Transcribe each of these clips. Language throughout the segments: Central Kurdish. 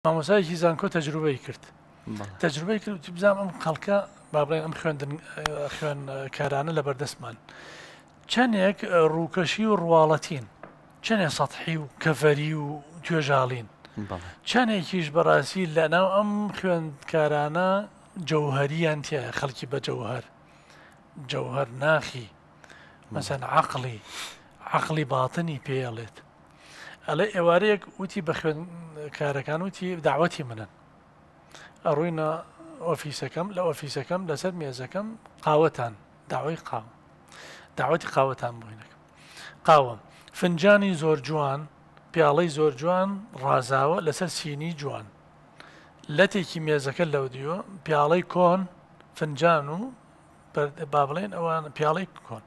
مامۆستایەکی زانکۆ تەجروبەی کرد تەجروبەی کرد وتی بزانم ئەم خەڵکە با بڵێن ئەم خوێندن خوێندکارانە لە بەردەستمان چەندێک ڕووکەشی و ڕواڵەتین چەندێ سەحی و کەڤەری و توێژاڵین چەندێکیش بەڕاستی لە ناو ئەم خوێندکارانە جەوهریان تایە خەڵکی بە جەوهر جەوهر ناخی مەسەن عقلی عقلی باتنی پێڵێت ئەڵێ ئێوارەیەک وتی بە خوێندکارەکان وتی داوەتی منن ئەڕۆینە ئۆفیسەکەم لە ئۆفیسەکەم لەسەر مێزەکەم قاوەتان داوای قاوە داوەتی قاوەتان بۆینەکەم قاوە فنجانی زۆر جوان پیاڵەی زۆر جوان ڕازاوە لەسەر سینی جوان لەتێکی مێزەکە لەو دیوە پیاڵەی کۆن فنجان و با بڵێن ئەوان پیاڵەی کۆن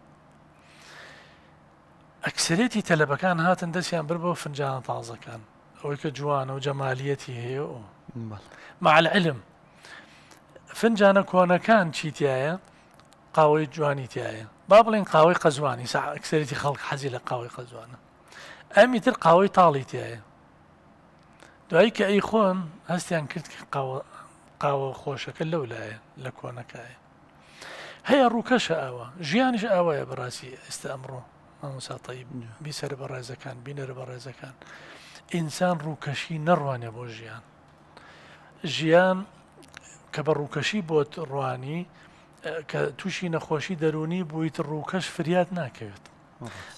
ئەکسەرێتی تەلەبەکان هاتن دەستیان برد بۆ فنجانە تازەکان ئەوەی کە جوانە و جەمالیەتی هەیە و مع العلم فنجانە کۆنەکان چی تایە قاوەی جوانی تایە با بڵێن قاوەی قەزوانی سا ئەکسەرێتی خەڵک حەزی لە قاوەی قەزوانە ئەمی تر قاوەی تاڵی تایە دوایی کە ئەی خۆن هەستیان کرد کە قاوە قاوە خۆشەکە لەو لایە لە کۆنەکایە هەیە ڕووکەشە ئاوا ژیانیش ئاوایە بەڕاستی ئێستا ئەمڕۆ مامۆستا تەیب بیسەرە بەڕێزەکان بینەرە بەڕێزەکان ئینسان ڕووکەشی نەڕوانێ بۆ ژیان ژیان کە بە ڕووکەشی بۆت ڕوانی کە تووشی نەخۆشی دەرونی بوویت ڕووکەش فریاد ناکەوێت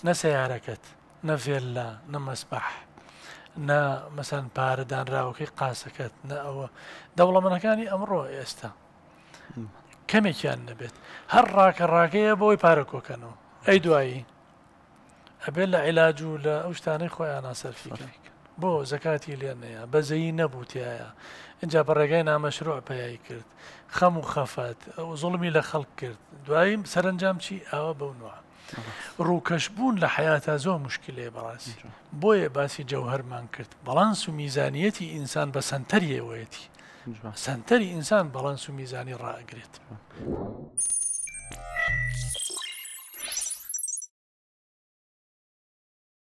نە سیارەکەت نە ڤێللا نە مەسبح نە مەسەن پارە دانراوەکەی قاسەکەت نە ئەوە دەوڵەمەنەکانی ئەمڕۆ ئێستا کەمێکیان نەبێت هەر ڕاکە ڕاکەیە بۆی پارە کۆکەنەوە ئەی دوایی ئەبێت لە عیلاج و لە ئەو شتانەی خۆیان سەرفیکەن بۆ زەکاتی لێ نەیە بەزەیی نەبوو تایە اینجا بە ڕێگای نامەشروع پەیای کرد خەم و خەفەت ئەو زوڵمی لە خەڵک کرد دوایی سەرنجام چی ئاوا بەو نوع ڕووکەش بوون لە حیاتا زۆر مشکلەیە بەڕاستی بۆیە باسی جەوهەرمان کرد بەڵانس و میزانیەتی ئینسان بە سەنتەریەوەیەتی سەنتەری ئینسان بەڵانس و میزانی ڕائەگرێت.